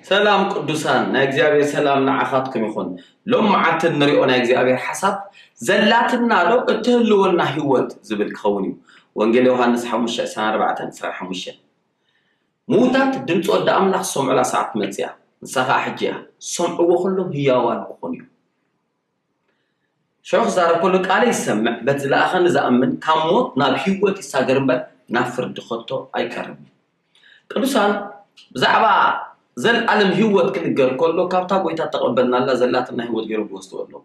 ሰላም ቅዱሳን፣ ናይ እግዚኣብሔር ሰላም ንዓኻትኩም ይኹን። ሎም መዓልቲ እንሪኦ ናይ እግዚኣብሔር ሓሳብ፣ ዘላትና ዶ እትህልወና ህይወት ዝብል ክኸውን እዩ። ወንጌል ዮሃንስ ሓሙሽተ ዕስራን ኣርባዕተን ዕስራን ሓሙሽተን። ምዉታት ድምፂ ወዲ ኣምላኽ ዝሰምዑላ ሰዓት መፅያ፣ ንሳ ከዓ ሕጂ እያ። ዝሰምዕዎ ኩሎም ህያዋን ክኾኑ እዮም። ሸው ክዛረብ ከሎ፣ ቃለይ ዝሰምዕ፣ በቲ ዝለኣኸኒ ዝኣምን፣ ካብ ሞት ናብ ህይወት ይሳገር እምበር፣ ናብ ፍርዲ ከቶ ኣይቀርብን። ቅዱሳን፣ ብዛዕባ ዘልኣለም ህይወት ክንገር ከሎ፣ ካብታ ጎይታ ተቐበልናላ ዘላትና ህይወት ገይሮም ዝወስድዎ ኣለዉ።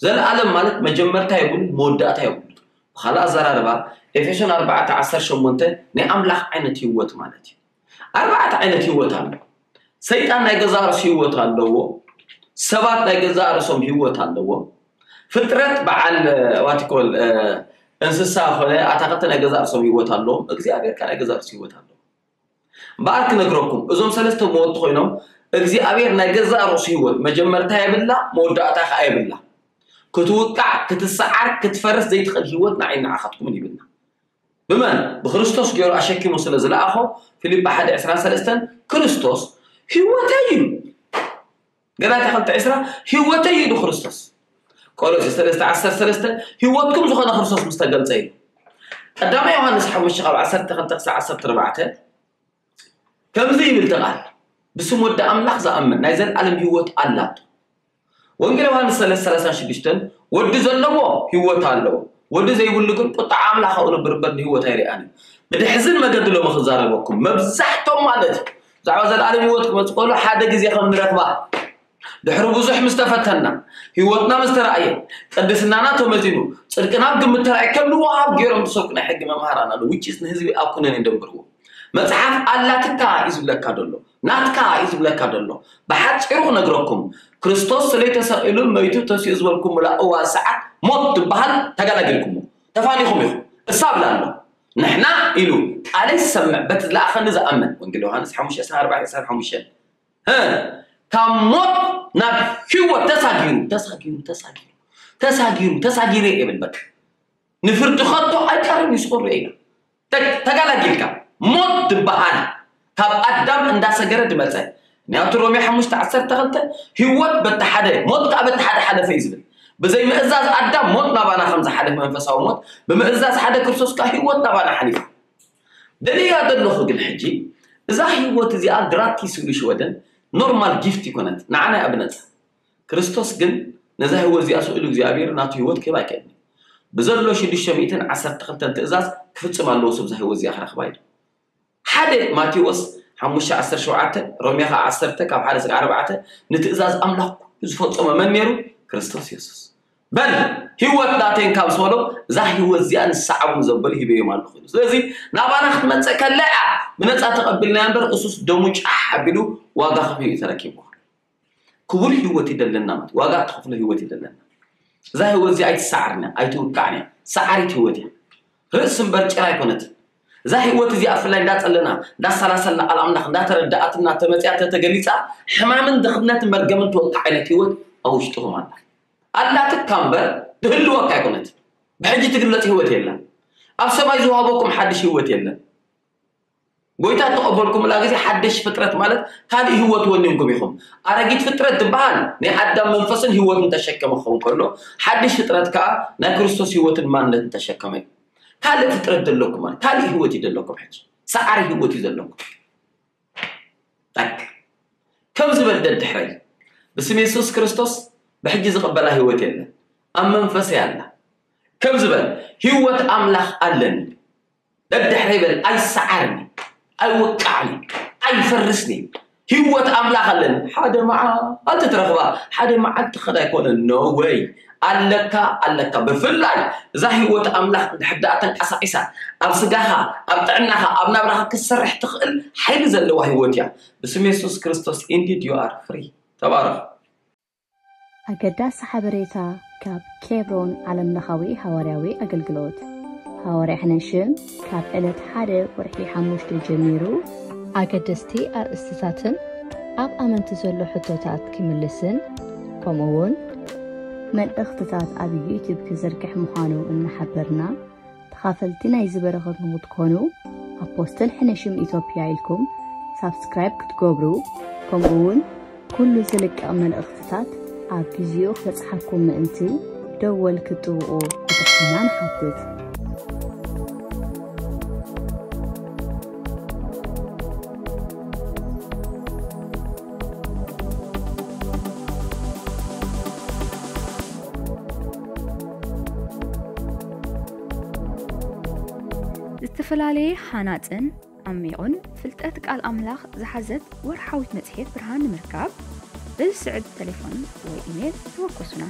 ዘልኣለም ማለት መጀመርታ የብሉን፣ መወዳእታ የብሉን። ብኻልእ ኣዘራርባ፣ ኤፌሶን ኣርባዕተ ዓሰርተ ሸሞንተ ናይ ኣምላኽ ዓይነት ህይወት ማለት እዩ። ኣርባዕተ ዓይነት ህይወት ኣሎ። ሰይጣን ናይ ገዛእ ርእሱ ህይወት ኣለዎ። ሰባት ናይ ገዛእ ርእሶም ህይወት ኣለዎ። ፍጥረት በዓል፣ ዋቲኮል፣ እንስሳ ኾነ ኣታኽልቲ ናይ ገዛእ ርእሶም ህይወት ኣለዎም። እግዚኣብሔር ከ ናይ ገዛእ ርእሱ ህይወት ኣለዎ። እምበኣር ክነግረኩም፣ እዞም ሰለስተ መወቲ ኮይኖም፣ እግዚኣብሔር ናይ ገዛእ ርእሱ ህይወት መጀመርታ የብላ፣ መወዳእታ ከኣ የብላ። ክትውቃዕ፣ ክትሰዓር፣ ክትፈርስ ዘይትኽእል ህይወት ንዓይ ንዓኻትኩምን ይብልና። ብመን? ብክርስቶስ ገይሩ ኣሸኪሙ ስለ ዝለኣኾ፣ ፊልጳ ሓደ ዕስራን ሰለስተን፣ ክርስቶስ ህይወተይ እዩ። ገላትያ ክልተ ዕስራ፣ ህይወተይ እዩ ክርስቶስ። ቆሎሴ ሰለስተ ዓሰርተ ሰለስተ፣ ህይወትኩም ዝኾነ ክርስቶስ ምስ ተገልጸ እዩ። ቀዳማይ ዮሃንስ ሓሙሽተ ካብ ዓሰርተ ክልተ ክሳብ ዓሰርተ ኣርባዕተ፣ ከምዚ ይብል እቲ ቃል፣ ብስም ወዲ ኣምላኽ ዝኣምን ናይ ዘልኣለም ህይወት ኣላቶ። ወንጌል ዮሃንስ ሰለስተ ሰላሳ ሽዱሽተ፣ ወዲ ዘለዎ ህይወት ኣለዎ፣ ወዲ ዘይብሉ ግን ቁጣ ኣምላኽ ኣብኡ ነብር እምበር ንህይወት ኣይርኣን እዩ። ብድሕዝን መገዲ ሎሚ ክዛረበኩም፣ መብዛሕቶም ማለት እዩ፣ ብዛዕባ ዘልኣለም ህይወት ክመጽእ ከሎ ሓደ ግዜ ከም ንረኽባ፣ ድሕሪ ብዙሕ ምስ ተፈተና፣ ህይወትና ምስ ተራእየ፣ ቅድስናና ተመዚኑ፣ ጽድቅና ኣብ ግምት ተራእየ፣ ከም ንወሃብ ገይሮም ዝሰብኩ ናይ ሕጊ መምሃራን ኣለዉ፣ which is ንህዝቢ ኣብ ኩነኔ ደንብርዎ። መጽሓፍ ኣላትካ እዩ ዝብለካ ደሎ፣ ናትካ እዩ ዝብለካ ደሎ። ብሓጺሩ ክነግረኩም፣ ክርስቶስ ስለይ ተሰቒሉ፣ መይቱ፣ ተሲኡ ዝበልኩምላ እዋን ሰዓት ሞት ትበሃል ተገላጊልኩሞ። ተፋኒኹም ኢኹም። እሳ ብላ ኣሎ። ንሕና ኢሉ ቃለይ ዝሰምዕ በቲ ዝለኣኸኒ ዝኣምን። ወንጌል ዮሃንስ ሓሙሽተ ዕስራን ኣርባዕተን ዕስራን ሓሙሽተን። እ፣ ካብ ሞት ናብ ህይወት ተሳጊሩ፣ ተሳጊሩ፣ ተሳጊሩ፣ ተሳጊሩ፣ ተሳጊሩ ይብል በቃ። ንፍርዲ ከቶ ኣይቀርብን እዩ፣ ስቑር ኢና። ተ-፣ ተጋላጊልካ። ሞት ዝበሃል ካብ ኣዳም እንዳሰገረ ድመጸ። ናይ ሮሜ ሓሙሽተ ዓሰርተ ክልተ፣ ህይወት በቲ ሓደ፣ ሞት ከኣ በቲ ሓደ ሓለፈ እዩ ዝብል። ብዘይ ምእዛዝ ኣዳም ሞት ናባና ከም ዝሓለፈ መንፈሳዊ ሞት፣ ብምእዛዝ ሓደ ክርስቶስ ከኣ ህይወት ናባና ሓሊፋ። ደልያ ዘለኹ ግን ሕጂ፣ እዛ ህይወት እዚኣ ግራቲስ ኢሉ ሽወደን ኖርማል ጊፍት ይኮነት፣ ንዓና እያ ብነጻ። ክርስቶስ ግን ነዛ ህይወት እዚኣ ስኢሉ እግዚኣብሔር ናቱ ህይወት ክህብ ኣይክእልን እዩ። ብዘሎ ሽዱሽተ ሚእትን ዓሰርተ ክልተን ትእዛዝ ክፍጽም ኣለዎ፣ ሰብ እዛ ህይወት እዚኣ ክረኽባ ኢሉ። ሓደ ማቴዎስ ሓሙሽተ ዓሰርተ ሸውዓተ፣ ሮሜ ኸዓ ዓሰርተ ካብ ሓደ እስካብ ኣርባዕተ፣ ንትእዛዝ ኣምላኽ ኩሉ ዝፈጸመ መን ነይሩ? ክርስቶስ የሱስ። በል ህይወት ናተይ እንካ ምስ በሎ፣ እዛ ህይወት እዚኣ ንሰዓቡ ዘበሉ ሂበዮም ኣለኹ ኢሉ። ስለዚ ናባና ክትመጽእ ከላ እያ፣ ብነጻ ተቐቢልና እምበር፣ እሱስ ደሙ ጫሕ ኣቢሉ ዋጋ ከፊሉ እዩ ተረኪብዋ። ክቡር ህይወት ይደለና ማለት ዋጋ እትኸፍሎ ህይወት ይደለና። እዛ ህይወት እዚኣ ኣይትሰዓርን እያ፣ ኣይትውቃዕን እያ። ሰዓሪት ህይወት እያ። ርእሲ እምበር ጭራ ኣይኮነትን። እዛ ህይወት እዚኣ ብፍላይ እንዳጸለና፣ እንዳሰላሰልና ቃል ኣምላኽ እንዳተረዳኣትና ተመጽያ ተተገሊጻ፣ ሕማምን ድኽነትን መርገምን ትወቅዕ ዓይነት ህይወት ኣብ ውሽጥኹም ኣላ። ኣላትካ እምበር ትህልወካ ኣይኮነትን። ብሕጂ ትግለጽ ህይወት የላን። ኣብ ሰማይ ዝወሃበኩም ሓድሽ ህይወት የለን። ጎይታ እተቐበልኩምላ ግዜ ሓድሽ ፍጥረት ማለት ካልእ ህይወት ወኒንኩም ኢኹም። ኣረጊት ፍጥረት ዝበሃል ናይ ኣዳም መንፈስን ህይወትን ተሸከመ ክኸውን ከሎ፣ ሓድሽ ፍጥረት ከኣ ናይ ክርስቶስ ህይወትን ማንነትን ተሸከመ እዩ። ካልእ ፍጥረት ዘለኩም ማለት ካልእ ህይወት እዩ ዘለኩም። ሕጂ ሰዓሪ ህይወት እዩ ዘለኩም። ጠቅ ከም ዝበል ደድሕረይ ብስም የሱስ ክርስቶስ ብሕጂ ዝቕበላ ህይወት የለን። ኣብ መንፈሰይ ኣላ። ከም ዝበል ህይወት ኣምላኽ ኣለኒ። ደድሕረይ በል፣ ኣይሰዓርን፣ ኣይወቃዕን፣ ኣይፈርስን። ህይወት ኣምላኽ ኣለኒ። ሓደ መዓልቲ ትረኽባ፣ ሓደ መዓልቲ ክኸዳ ኣይኮነን። No way። ኣለካ፣ ኣለካ። ብፍላይ እዛ ህይወት ኣምላኽ እንድሕር ደኣ ተንቀሳቒሳ፣ ኣብ ስጋኻ፣ ኣብ ጥዕናኻ፣ ኣብ ናብራኻ ክትሰርሕ ትኽእል ሓይሊ ዘለዋ ህይወት እያ። ብስም የሱስ ክርስቶስ፣ indeed you are free። ተባረኽ። ኣገዳሲ ሓበሬታ ካብ ኬብሮን ዓለምለኻዊ ሃዋርያዊ ኣገልግሎት። ሃዋርያ ሕነሽም ካብ ዕለት ሓደ ወርሒ ሓሙሽተ ጀሚሩ ኣገደስቲ ኣርእስትታትን ኣብ ኣመንቲ ዘሎ ሕቶታት ክምልስን፣ ከምኡ እውን መልእኽትታት ኣብ ዩቲዩብ ክዝርግሕ ምዃኑ እናሓበርና፣ ተኻፈልቲ ናይዚ በረኸት ንክትኮኑ ኣፖስትል ሕነሽም ኢትዮጵያ ኢልኩም ሳብስክራይብ ክትገብሩ፣ ከምኡ እውን ኩሉ ዝልቀቕ መልእኽትታት ኣብ ግዜኡ ክበጽሓኩም ምእንቲ ደወል ክትጥውቑ ብትሕትና ንሓትት። ዝተፈላለየ ሃናጽን ዓሚቑን ፍልጠት ቃል ኣምላኽ ዝሓዘት ወርሓዊት መጽሔት ብርሃን ንምርካብ፣ በዚ ስዕብ ተሌፎን ወይ ኢሜል ተወከሱና።